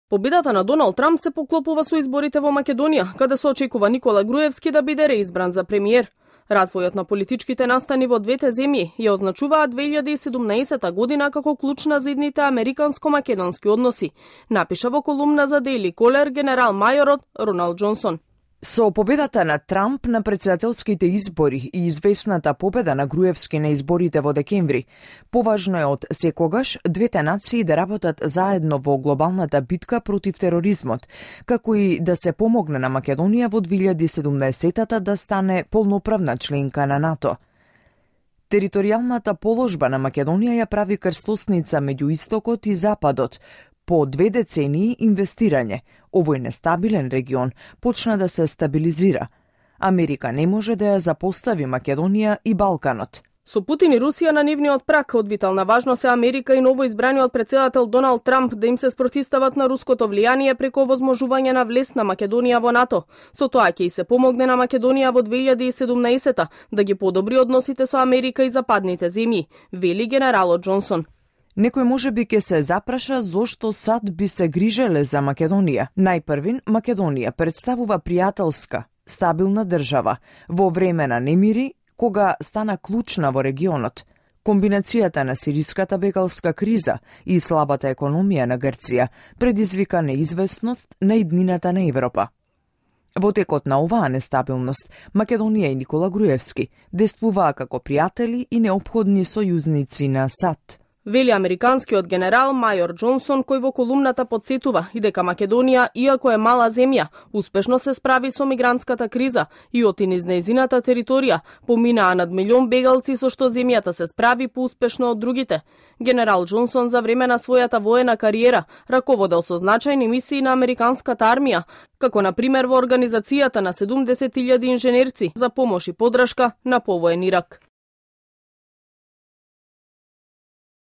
Победата на Доналд Трамп се поклопува со изборите во Македонија, каде се очекува Никола Груевски да биде реизбран за премиер. Развојот на политичките настани во двете земји ја означуваат 2017 година како клучна за идните американско-македонски односи, напиша во колумна за Daily Caller генерал-мајорот Роналд Џонсон. Со победата на Трамп на претседателските избори и известната победа на Груевски на изборите во декември, поважно е од секогаш двете нации да работат заедно во глобалната битка против тероризмот, како и да се помогне на Македонија во 2017 да стане полноправна членка на НАТО. Територијалната положба на Македонија ја прави крстосница меѓу Истокот и Западот. По 2 децении инвестирање, овој нестабилен регион почна да се стабилизира. Америка не може да ја запостави Македонија и Балканот. Со Путин и Русија на нивниот прак, од витална важност е Америка и новоизбраниот претседател Доналд Трамп да им се спротистават на руското влијание преку возможување на влез на Македонија во НАТО. Со тоа ќе и се помогне на Македонија во 2017 да ги подобри односите со Америка и западните земји, вели генералот Џонсон. Некој можеби ќе се запраша зошто САД би се грижеле за Македонија. Најпрвин, Македонија представува пријателска, стабилна држава во време на немири, кога стана клучна во регионот. Комбинацијата на сириската бегалска криза и слабата економија на Грција предизвика неизвестност на иднината на Европа. Во текот на оваа нестабилност, Македонија и Никола Груевски действуваа како пријатели и неопходни сојузници на САД. Вели американскиот генерал мајор Џонсон, кој во колумната подсетува и дека Македонија, иако е мала земја, успешно се справи со мигрантската криза и од низ нејзината територија поминаа над 1 милион бегалци, со што земјата се справи поуспешно од другите. Генерал Џонсон за време на својата воена кариера раководел со значајни мисии на американската армија, како на пример во организацијата на 70.000 инженерци за помош и подршка на повоен Ирак.